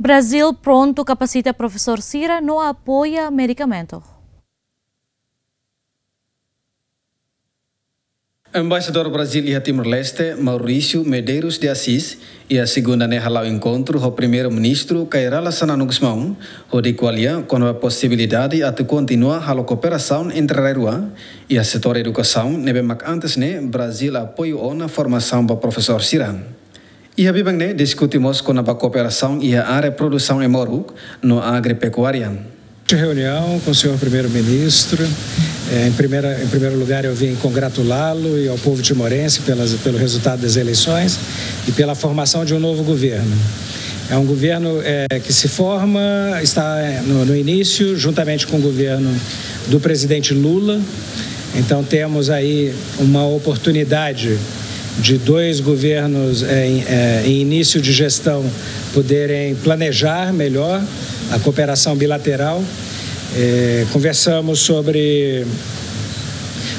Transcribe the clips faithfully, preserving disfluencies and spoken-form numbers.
Brazil prontu kapasita profesór sira no apoia medikamentu. Embaixadór Brazil iha Timor-Leste, Maurício Medeiros de Assis, iha segunda ne'e hala'o enkontru ho Primeiru-Ministru Kay Rala Xanana Gusmão, hodi ko'alia kona-ba posibilidade atu kontinua halo kooperasaun entre rai rua iha setór edukasaun, ne'ebé mak antes ne'e Brazil apoiu ona formasaun ba profesór sira. Iha biban ne'e diskute mós kona-ba kooperasaun iha área produsaun ema-moruk no agropekuária. Reunião com o senhor primeiro-ministro. É, em primeira, em primeiro lugar, eu vim congratulá-lo e ao povo timorense pelas, pelo resultado das eleições e pela formação de um novo governo. É um governo, é, que se forma, está no, no início, juntamente com o governo do presidente Lula. Então, temos aí uma oportunidade de dois governos, é, em, é, em início de gestão, poderem planejar melhor a cooperação bilateral. É, conversamos sobre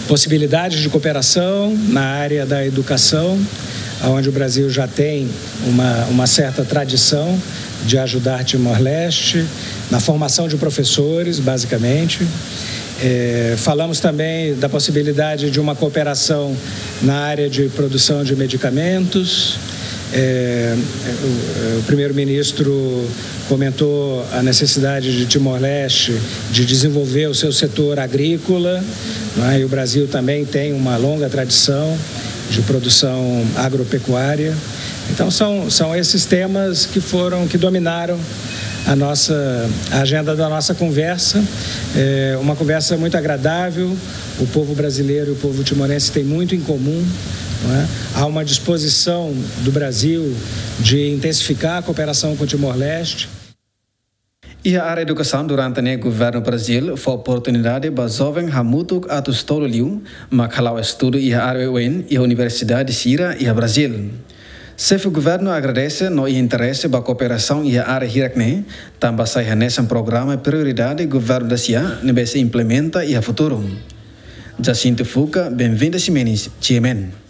possibilidades de cooperação na área da educação, onde o Brasil já tem uma, uma certa tradição de ajudar Timor-Leste, na formação de professores, basicamente. É, falamos também da possibilidade de uma cooperação na área de produção de medicamentos. É, o, o primeiro-ministro comentou a necessidade de Timor-Leste de desenvolver o seu setor agrícola, né? E o Brasil também tem uma longa tradição de produção agropecuária. Então, são, são esses temas que foram, que dominaram a nossa, a agenda da nossa conversa. É uma conversa muito agradável. O povo brasileiro e o povo timorense têm muito em comum, não é? Há uma disposição do Brasil de intensificar a cooperação com Timor-Leste. Iha área edukasaun, durante ne'e governu Brazil fó oportunidade ba joven hamutuk atus tolu liu mak hala'o estudu iha área oioin iha universidade sira iha Brazil. Xefe governu agradese no iha interese ba kooperasaun iha área hirak ne'e, tanba sai hanesan programa prioridade governu dasia ne'ebé sei implementa iha futuru. Jacinto Fuca, Benvinda Ximenes, G M N.